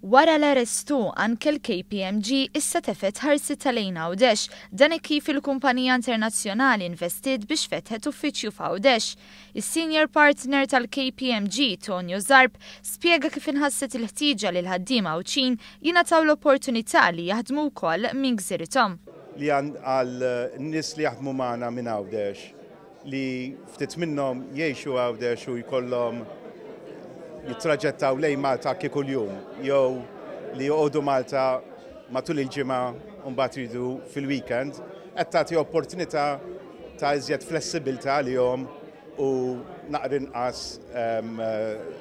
Wara l-RS2, anke l-KPMG issa tefgħet ħarsitha lejn Għawdex, dan hekk kif il-kumpanija internazzjonali investiet biex fetħet uffiċċju f'Għawdex. Is-senior partner tal-KPMG, Tonio Zarb, spjega kif inħasset il-ħtieġa li l-ħaddiema Għawdxin jingħataw l-opportunità li jaħdmu wkoll minn gżirithom. Li għal nies li jaħdmu magħna minn Għawdex, li ftit minnhom jgħixu Għawdex u jkollhom jittraġettaw lejn Malta anki kuljum jew li joqogħdu Malta matul il-ġimgħa u mbagħad jridu fil-weekend, qed tagħti opportunità ta' iżjed flessibilità għalihom u naqra inqas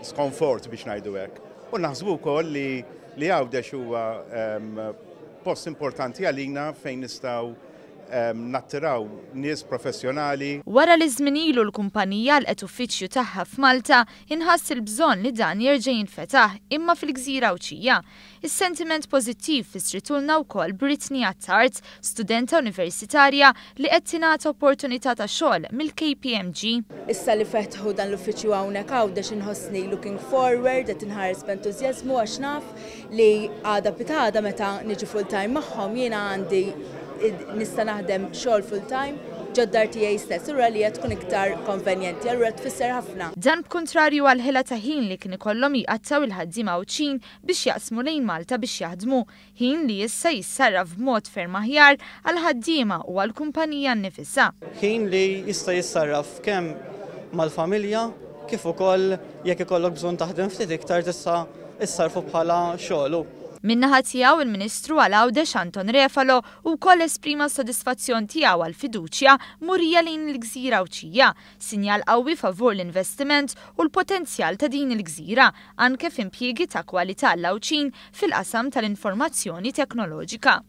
skonfort biex ngħidu hekk. U naħsbu wkoll li li Għawdex huwa post importanti għalina fejn nistgħu nattiraw nies professjonali. Wara li żmien ilu l-kumpanija għalqet uffiċċju tagħha f'Malta, inħass il-bżonn li dan jerġa' jinfetaħ imma fil-gżira Għawdxija. Is-sentiment pożittiv fissritulna wkoll Brittany Attard, studenta universitarja li qed tingħata opportunità ta' xogħol mill-KPMG. Issa li fetħu dan l-uffiċċju hawnhekk Għawdex inħossni looking forward, qed inħares b'entużjażmu għax naf li għada pitgħada meta niġi full time magħhom jiena għandi nista' naħdem xogħol full time ġod-dar tiegħi stess, allura li tkun iktar konvenjenti, allura tfisser ħafna. Dan b'kuntrarju għal ħela ta' ħin li kien ikollhom jqattaw il-ħaddiema Għawdxin biex jaqsmu lejn Malta biex jaħdmu, ħin li issa jissarraf b'mod ferm aħjar għall-ħaddiema u għall-kumpanija nnifisha. Ħin li jista' jissarraf kemm mal-familja kif ukoll jekk ikollok bżonn taħdem ftit iktar tista' issarfu bħala xogħol. Min-naħa tiegħu il-Ministru għal Għawdex Anton Refalo wkoll esprima s-sodisfazzjon tiegħu għall-fiduċja murija lejn il-gżira Għawdxija, sinjal qawwi favur l-investiment u l-potenzjal ta' din il-gżira, anke f'impjiegi ta' kwalità għall-Għawdxin fil-qasam tal-informazzjoni teknoloġika.